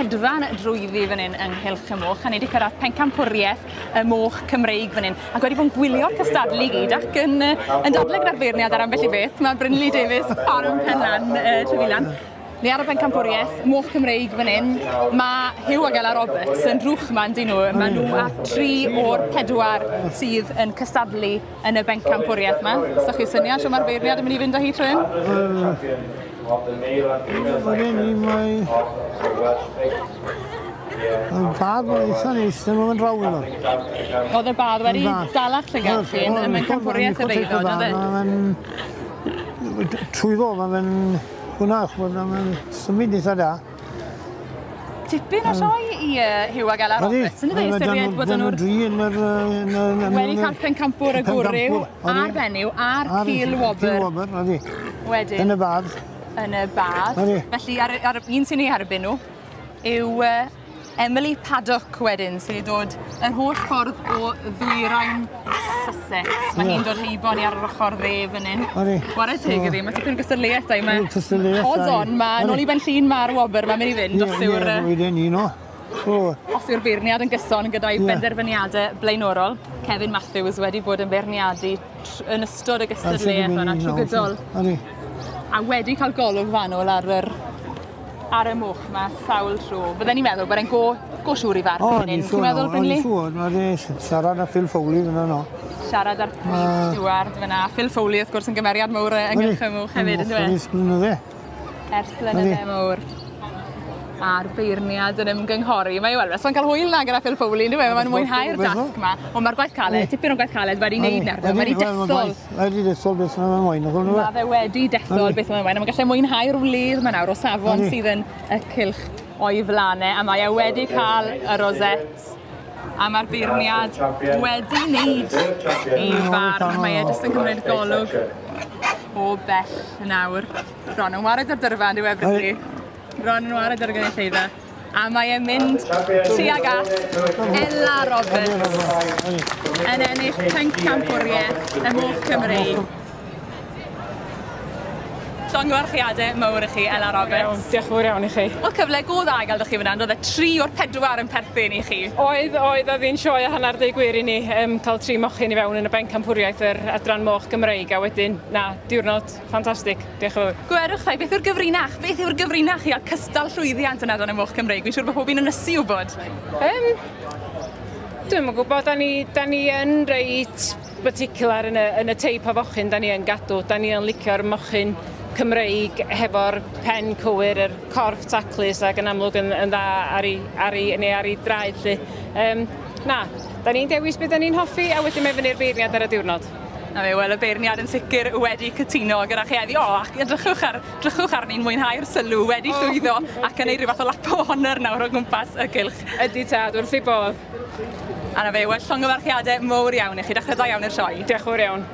hedfan drwyddi fan hyn yng Nghylch y Moch, a ni wedi cyrraedd pencampwriaeth y moch Cymreig fan hyn, ac wedi bod yn gwylio'r cystadlu i gyd ac yn, yn dadlau gyda'r beirniad ar ambell i beth. Mae Brynley Davies, Ffarm Penlan, Trefilan. Ni ar y bencampwriaeth, moch Cymreig fan hyn. Mae Huw ac Ela Roberts yn drwch yma, yndyn nhw. Mae nhw a 3 o'r 4 sydd yn cystadlu yn y bencampwriaeth yma. So chi syniad shwt mae'r beirniad yn mynd i fynd â hi tro hyn? Wedyn ni mae... Mae'n badd mae'n eitha neis, ddim yn draw iddo. Oedd y badd wedi dalach llygad chi yn bencampwriaeth y beifod, oedd e? Mae'n... Trwyddo, mae'n... Hwna, ch'mod, mae'n symud eitha da. Tipyn o sioe i Huw ag Ela Roberts, yn ydy, ystyried bod nhw'r... Dri yn yr... Wedi cael pencampwr y gwryw, a'r fenyw, a'r cil wobr. Cil wobr, ydy. Wedyn. Yn y badd. Yn y badd. Felly, ar un sy'n ei erbyn nhw yw Emily Paddock wedyn, sydd wedi dod yr holl ffordd o ddwyrain Sussex. Mae hi'n dod heibo ni ar yr ochr dde fan hyn. Chwarae teg iddi, mae tipyn o gystadleuaeth da i. Mae odds on, mae nôl i Ben Llŷn mae'r wobr mae'n mynd i fynd os yw'r... Os yw'r beirniad yn gyson gyda'i benderfyniadau blaenorol. Kevin Matthews wedi bod yn beirniadu yn ystod y gystadleuaeth yna trwy gydol. A wedi cael golwg fanwl ar yr ar y moch yma sawl tro. Bydden ni'n meddwl bod e'n go siŵr i farn fan hyn. Ti'n meddwl, Brynley? O, ni'n siŵr. Mae siarad â Phil Foley fyna no. Siarad â'r prif stiward fyna. Phil Foley, wrth gwrs, yn gymeriad mawr yng Nghylch y Moch hefyd, yndyw e? Ers blynydde. Ers blynydde mawr. A'r beirniad yn ymgynghori. Mae wel, so'n cael hwyl na gyda Phil Foley, yndyw e? Mae'n mwynhau'r dasg yma. Ond mae'r gwaith caled, tipyn o gwaith caled wedi wneud nawr. Mae wedi dethol. Wedi dethol beth mae'n moyn. Mae fe wedi dethol beth mae'n moyn. A mae'n gallu mwynhau'r wledd yma nawr o safon sydd yn y cylch o'i flanau. A mae e wedi cael y rosettes. A mae'r beirniad wedi wneud ei farn. Mae e jyst yn cymryd golwg o bell nawr. Bron yn wared ar dyrfa, yndyw e, Brynley? Bron yn wared ar y gynulleidfa. A mae e'n mynd tuag at Ela Roberts yn ennill pencampwriaeth y Moch Cymreig. Llongyfarchiadau mawr i chi, Ela Roberts. Diolch yn fawr iawn i chi. Wel, cyfle go dda i gael chi fyna, oedd e 3 o'r 4 yn perthyn i chi. Oedd, oedd hi'n sioe a hanner deud gwir i ni cael 3 mochyn i fewn yn y bencampwriaeth yr adran moch Gymreig, a wedyn, na, diwrnod ffantastig. Diolch yn fawr. Gwerwch rhai, beth yw'r gyfrinach? Beth yw'r gyfrinach i gael cystal llwyddiant yn adran y moch Cymreig? Fi'n siŵr bod pob un yn ysu wybod. Dwi'm yn gwybod, da ni yn reit particular yn y teip o fochyn da ni yn gadw. Da ni yn licio'r mochyn Cymreig hefo'r pen cywir, yr corff taclus ac yn amlwg yn dda ar ei draed lly. Na, da ni'n dewis beth da ni'n hoffi a wedyn mae fyny'r beirniad ar y diwrnod. Na fe, wel, y beirniad yn sicr wedi cytuno gyda chi heddi. O, ac edrychwch arni'n mwynhau'r sylw, wedi llwyddo ac yn ei rhyw fath o lap o honour nawr o gwmpas y cylch. Ydy tad, wrth ei bodd. A na fe, wel, llongyfarchiadau mawr iawn i chi. Dechrau da iawn i'r sioe. Diolch yn fawr iawn.